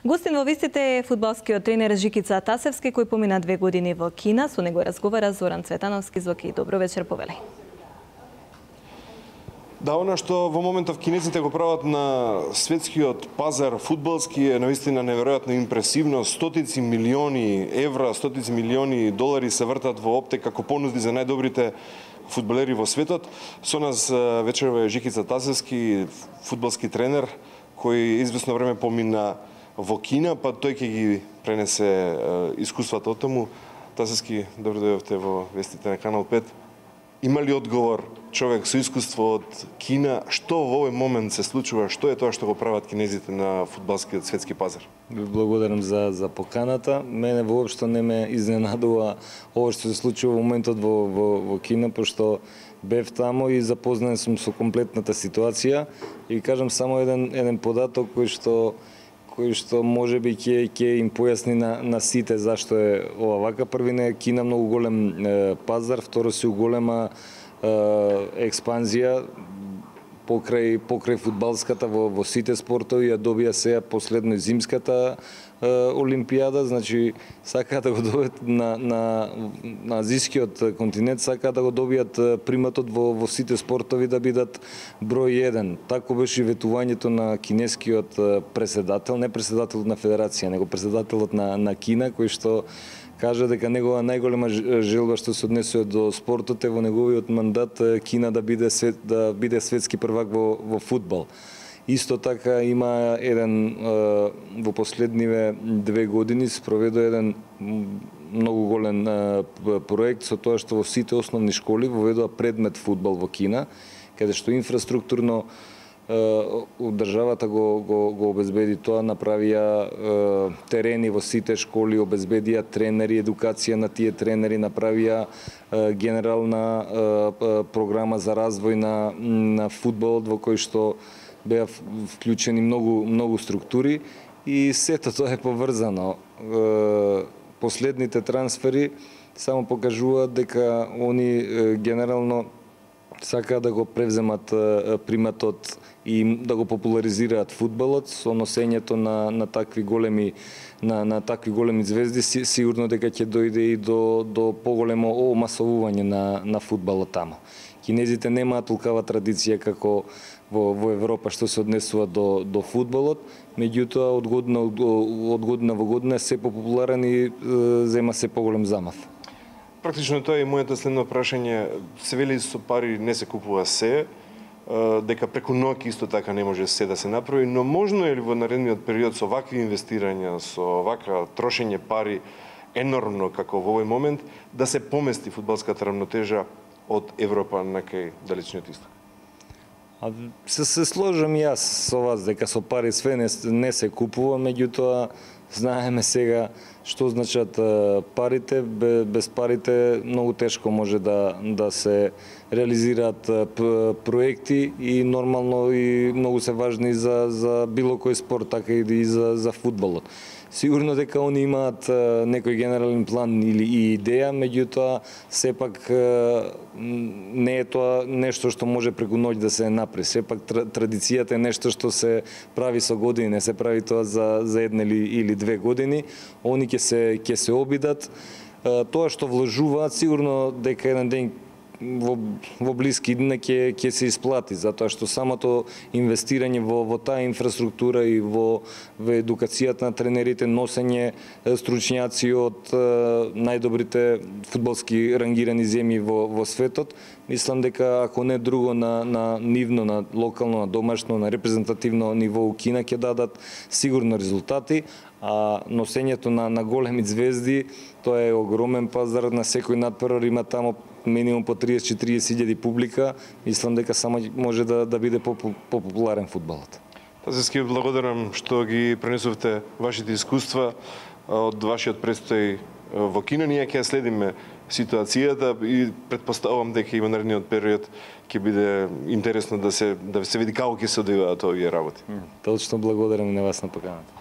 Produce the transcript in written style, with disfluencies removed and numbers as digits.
Гостин во вестите е фудбалскиот тренер Жикица Тасевски, кој помина 2 години во Кина. Со него разговара Зоран Цветановски. Зоки, добро вечер, повели. Да, она што во моментов кинезите го прават на светскиот пазар фудбалски е наистина неверојатно импресивно. Стотици милиони евра, стотици милиони долари се вртат во оптек како понуди за најдобрите фудбалери во светот. Со нас вечерва е Жикица Тасевски, фудбалски тренер, кој извесно време помина во Кина, па тој ќе ги пренесе искуствата од таму. Тасевски, добро дојдовте во вестите на Канал 5. Има ли одговор човек со искуство од Кина? Што во овој момент се случува? Што е тоа што го прават кинезите на фудбалскиот светски пазар? Благодарам за поканата. Мене воопшто не ме изненадува ова што се случува во моментот во Кина, пошто бев таму и запознан сум со комплетната ситуација. И кажам само еден податок кој што можеби ќе им појасни на сите зашто е ова вака. Првине, Кина многу голем пазар, второ си голема експанзија покрај фудбалската во сите спортови, ја добија сега последно зимската олимпијада, значи сакаат да го добијат на азискиот континент, сакаат да го добијат приматот во сите спортови да бидат број 1. Тако беше ветувањето на кинескиот преседател, не преседателот на федерација, него преседателот на Кина, кој што кажа дека негова најголема желба што се однесува до спортот е во неговиот мандат Кина да биде светски првак во фудбал. Исто така има во последниве 2 години спроведе еден многу голем проект со тоа што во сите основни школи воведува предмет фудбал во Кина, каде што инфраструктурно државата го обезбеди тоа, направија терени во сите школи, обезбедија тренери, едукација на тие тренери, направија генерална програма за развој на фудбалот во кој што беа вклучени многу структури и сето тоа е поврзано. Последните трансфери само покажуваат дека они генерално сакаат да го превземат приматот и да го популаризираат фудбалот со носењето на такви големи звезди. Сигурно дека ќе дојде и до поголемо омасовување на фудбалот таму. Кинезите немаат толкава традиција како во Европа што се однесува до фудбалот, меѓутоа од година во година е се популарен и зема се поголем замав. Практично тоа е моето следно прашање. Се вели со пари не се купува се, дека преку ноќ исто така не може се да се направи, но можно е ли во наредниот период со вакви инвестирања, со вака трошење пари енормно како во овој момент, да се помести фудбалската рамнотежа од Европа на кај далечниот исток? Се сложам и јас со вас дека со пари све не се купува, меѓутоа знаеме сега што значат парите. Без парите многу тешко може да се реализираат проекти и нормално и многу се важни за било кој спорт, така и за фудбалот. Сигурно дека они имаат некој генерален план или идеја, меѓутоа сепак не е тоа нешто што може преку ноќ да се направи. Сепак традицијата е нешто што се прави со години, не се прави тоа за една или 2 години. Они ќе се обидат. Тоа што вложуваат, сигурно дека еден ден во блиски дни ќе се исплати, затоа што самото инвестирање во таа инфраструктура и во едукацијата на тренерите, носење стручњаци од најдобрите фудбалски рангирани земји во светот, мислам дека ако не друго на нивно, на локално, на домашно, на репрезентативно ниво у Кина ќе дадат сигурно резултати, а носењето на големи звезди, тоа е огромен пазар, на секој надпревар има тамо минимум по 30-40 илјади публика, мислам дека само може да биде популарен фудбалот. Тасевски, благодарам што ги пренесовте вашите искуства од вашиот престој во Кина. Ние ќе следиме ситуацијата и претпоставувам дека и во наредниот период ќе биде интересно да се види како ќе се одвиваат овие работи. Точно, благодарам на вас на поканата.